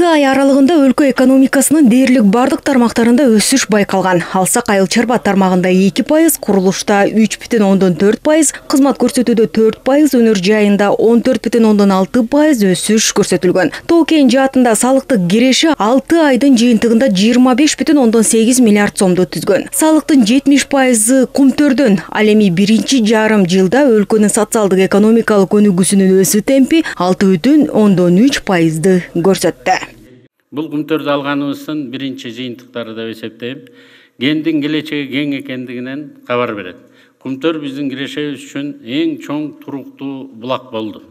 Ай аралыгында өлкө экономикасынын дээрлик бардык тармактарында өсүш байкалган. Алсак айыл чарба тармагында 2%, курулушта 3,4%, кызмат көрсөтүүдө 4%, өнөр жайында 14,6% өсүш көрсөтүлгөн. Тоо-Кен жаатында салыктык киреше 6 айдын жыйынтыгында 25,8 миллиард сомду түзгөн. Салыктын 70% кумтөрдөн. Ал эми биринчи жарым жылда өлкөнүн социалдык экономикалык өнүгүүсүнүн өсүү темпи 6,3%ды көрсөттү. Бул кумтөрдү алганыбыздын биринчи жыйынтыктары деп эсептейм. Кендин келечеги кең экендигинен кабар берет. Кумтөр биздин кирешебиз үчүн эң чоң туруктуу булак болду.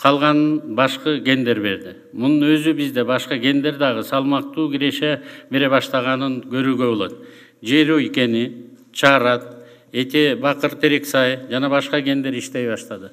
Калганын башкы кендер берди. Мунун өзү бизде башка кендер дагы салмактуу киреше бере баштаганын көрүүгө болот. Жерөй кени, Чарат, Эте Бакыр Терексай жана башка кендер иштей баштады.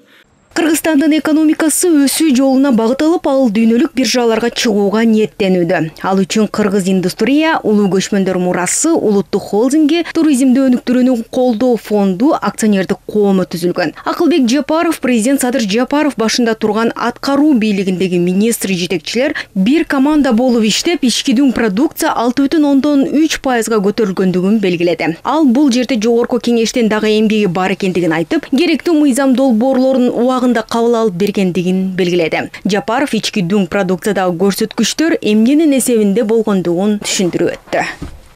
Кыргызстандын экономикасы өсүү жолуна багыт алып, ал дүйнөлүк биржаларга чыгууга ниеттенүүдө. Ал үчүн Кыргыз индустрия, улуу көчмөндөр мурасы, улуттук холдинги, туризмди өнүктүрүүнү колдоо фонду акционердик коому түзүлгөн. Акылбек Жапаров, президент Садыр Жапаров башында турган аткаруу бийлигиндеги министр жетекчилер бир команда болуп иштеп, ички дүң продукция 6,3%га көтөрүлгөндүгүн белгиледи. Ал бул жерде жогорку кеңештен дагы эмгеги бар экендигин айтып, керектүү мыйзам долбоорлорун убагында кабыл алып бергендигин белгиледи. Жапаров ички дүң продукциядагы көрсөткүчтөр эмненин эсебинде болгондугун түшүндүрүп өттү.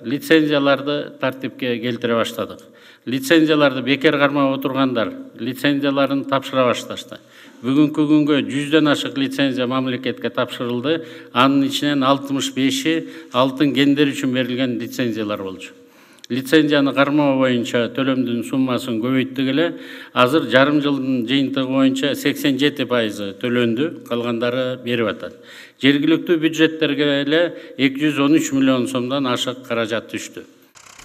Лицензияларды тартипке келтире баштадык. Лицензияларды бекер кармап отургандар лицензияларын тапшыра башташты. Бүгүнкү күнгө 100дөн ашык лицензия мамлекетке тапшырылды. Анын ичинен 65-и алтын кендер үчүн берилген лицензиялар болчу. Лицензияны кармоо боюнча төлөмдүн суммасын көбөйттүк эле. Азыр жарым жылдын жыйынтыгы боюнча 87% төлөндү, калгандары берип атат. Жергиликтүү бюджеттерге эле 213 миллион сомдон ашык каражат түштү.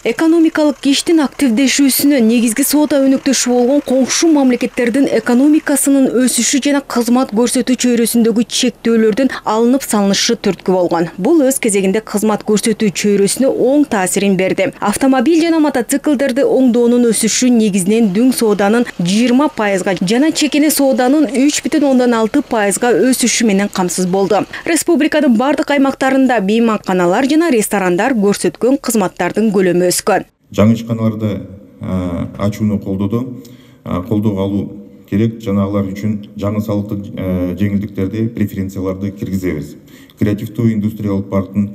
Экономикалык иштин активдешүүсүнө негизги соода өнөктөшү болгон коңшу мамлекеттердин экономикасынын өсүшү жана кызмат көрсөтүү чөйрөсүндөгү чектөөлөрдүн алынып салынышы түрткү болгон. Бул өз кезегинде кызмат көрсөтүү чөйрөсүнө оң таасирин берди. Автомобиль жана мотоциклдерди оңдоонун өсүшү негизинен дүң сооданын 20%га жана чекене сооданын 3,6%га өсүшү менен камсыз болду. Республиканын бардык аймактарында мейманканалар жана ресторандар көрсөткөн кызматтардын көлөмү жаңы ишканаларды ачууну колдоого алуу керек, жана алар үчүн жаңы салыктык жеңилдиктерди, преференцияларды киргизебиз. Креативдүү индустриялык парктын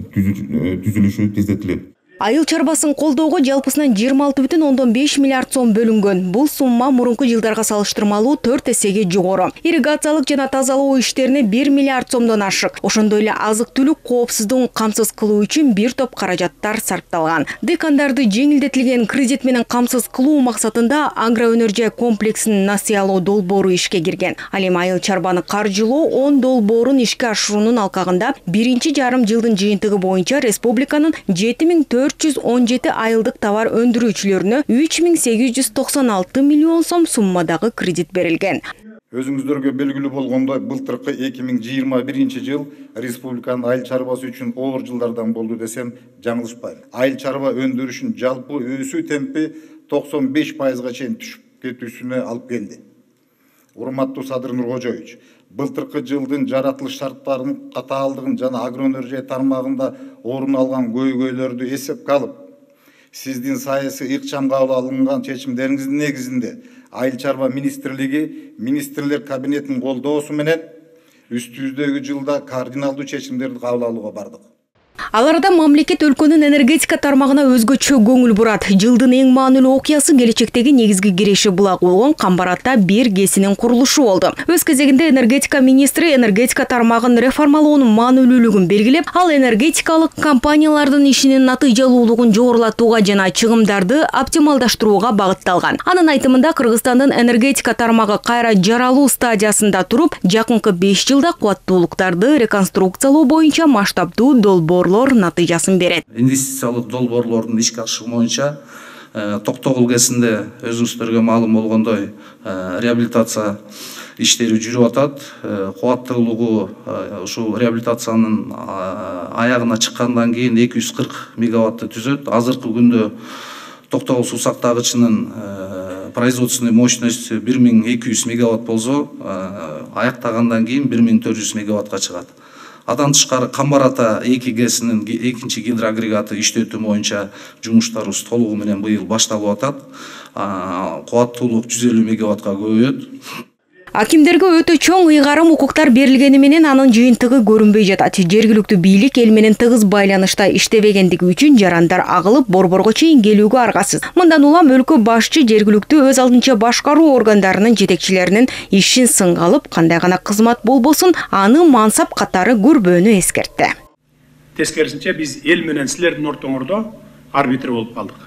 түзүлүшү тездетилет. Айыл чарбасын колдоого жалпысынан 26,5 миллиард сом бөлүнгөн. Бул сумма мурунку жылдарга салыштырмалуу 4 эсеге жогору. Ирригациялык жана тазалоо иштерине 1 миллиард сомдон ашык. Ошондой эле азык-түлүк коопсуздугун камсыз кылуу үчүн бир топ каражаттар сарпталган. Декандарды жеңилдетилген кредит менен камсыз кылуу максатында агроөнөр жай комплексинин насыялоо долбоору ишке кирген. Ал эми айыл чарбаны каржылоо 10 долбоорун ишке ашыруунун алкагында биринчи жарым жылдын жыйынтыгы боюнча республиканын 7417 айылдык товар өндүрүүчүлөрүнө 3896 миллион сом суммадагы кредит берилген. Өзүңүздөргө белгилүү болгондой, былтыркы 2021 жыл республиканын айыл чарбасы үчүн оор жылдардан болду десем жаңылышпайм. Айыл чарба өндүрүшүнүн жалпы өсүү темпи 95%га чейин түшүп кетүүсүнө алып келди. Урматтуу Садыр Нуркожоевич, былтыркы жылдын жаратылыш шарттарынын катаалдыгын жана агроөнөр жай тармагында орун алган көйгөйлөрдү эсепке алып, сиздин саясий ыкчам кабыл алынган чечимдериңиздин негизинде Айыл чарба министрлиги министрлер кабинетинин колдоосу менен үстүбүздөгү жылда кардиналдуу чечимдерди кабыл алууга бардык. Ал арада мамлекет өлкөнүн энергетика тармагына өзгөчө көңүл бурат. Жылдын эң маанилүү окуясы келечектеги негизги киреше булагы болгон Камбаратта бир ГЭСинин курулушу болду. Өз кезегинде энергетика министри энергетика тармагын реформалоонун маанилүүлүгүн белгилеп, ал энергетикалык компаниялардын ишинин натыйжалуулугун жогорулатууга жана чыгымдарды оптималдаштырууга багытталган. Анын айтымында Кыргызстандын энергетика тармагы кайра жаралуу стадиясында туруп, жакынкы 5 жылда кубаттуулуктарды реконструкциялоо боюнча масштабдуу долбоорлор натыйжасын берет. Инвестициялык долбоорлордун ишке ашыгуу боюнча Токтогул ГЭСинде өзүңүздөргө маалым болгондой реабилитация иштери жүрүп атат. Кубаттуулугу ушул реабилитациянын аягына чыккандан кийин 240 мегаватты түзөт. Азыркы күндө Токтогул суу сактагычынын производственный мощность 1200 мегаватт болсо, аяктагандан кийин 1400 мегаваттка чыгат. Адан тышкары Камбар-Ата 2 ГЭСинин экинчи гидроагрегаты иштетүү боюнча жумуштарыбыз толугу менен быйыл башталып атат. Кубаттуулук 150 мегаваттка көбөйөт. Акимдерге өтө чоң ыйгарым укуктар берилгени менен анын жыйынтыгы көрүнбөй жатат. Жергиликтүү бийлик эл менен тыгыз байланышта иштебегендиги үчүн жарандар агылып борборго чейин келүүгө аргасыз. Мындан улам өлкө башчы жергиликтүү өз алдынча башкаруу органдарынын жетекчилеринин ишин сынга алып, кандай гана кызмат болбосун, аны мансап катары көрбөөнү эскертти. Тескерисинче биз эл менен силердин ортоңордо арбитр болуп калдык.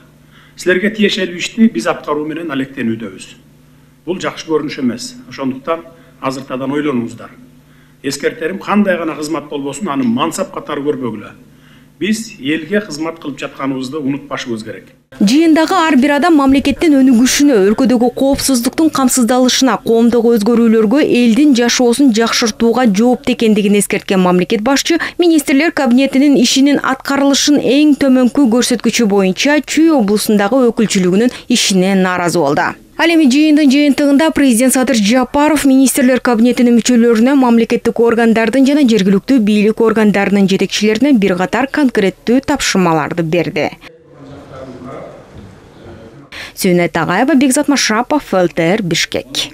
Силерге тиешелүү ишти биз аткаруу менен алектенүүдөбүз. Бул жакшы көрүнүш эмес. Ошондуктан азыртадан ойлонуңуздар. Эскертерим, кандай гана кызмат болбосун, аны мансап катары көрбөгүлө. Биз элге кызмат кылып жатканыбызды унутпашыбыз керек. Жыйындагы ар бир адам мамлекеттин өнүгүшүнө, өлкөдөгү коопсуздуктун камсыздалышына, коомдогу өзгөрүүлөргө, элдин жашоосун жакшыртууга жоопту экендигин эскерткен мамлекет башчы министрлер кабинетинин ишинин аткарылышын эң төмөнкү көрсөткүчү боюнча Чүй облусундагы өкүлчүлүгүнүн ишине нааразы болду. Ал эми жыйындын жыйынтыгында президент Садыр Жапаров министрлер кабинетинин мүчөлөрүнө, мамлекеттик органдардын жана жергиликтүү бийлик органдарынын жетекчилерине бир катар конкреттүү тапшырмаларды берди. Сүйнөт Агаева, Бекзат Машапов, ЛТР, Бишкек.